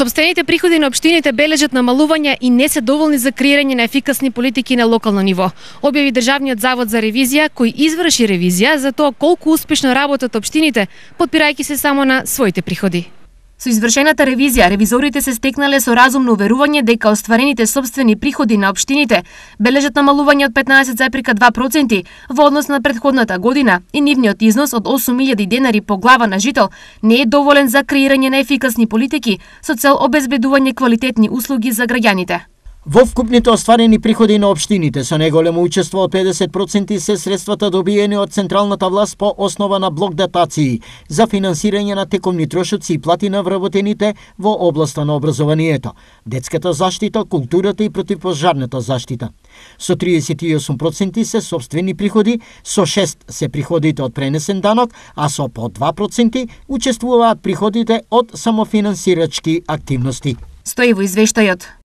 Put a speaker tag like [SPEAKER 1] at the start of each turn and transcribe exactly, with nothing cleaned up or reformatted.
[SPEAKER 1] Сопствените приходи на општините бележат намалување и не се доволни за креирање на ефикасни политики на локално ниво, објави Државниот завод за ревизија, кој изврши ревизија за тоа колку успешно работат општините, подпирајќи се само на своите приходи. Со извршената ревизија, ревизорите се стекнале со разумно уверување дека остварените сопствени приходи на општините бележат намалување од петнаесет зарез два проценти во однос на претходната година и нивниот износ од осум илјади денари по глава на жител не е доволен за креирање на ефикасни политики со цел обезбедување квалитетни услуги за граѓаните.
[SPEAKER 2] Во вкупните остварени приходи на општините со најголемо учество од педесет проценти се средствата добиени од централната власт по основа на блок датации за финансирање на текомни трошоци и плати на вработените во областа на образованието, детската заштита, културата и противпожарната заштита. Со триесет и осум проценти се сопствени приходи, со шест се приходите од пренесен данок, а со по два проценти учествуваат приходите од самофинансирачки активности.
[SPEAKER 1] Стои во извештајот.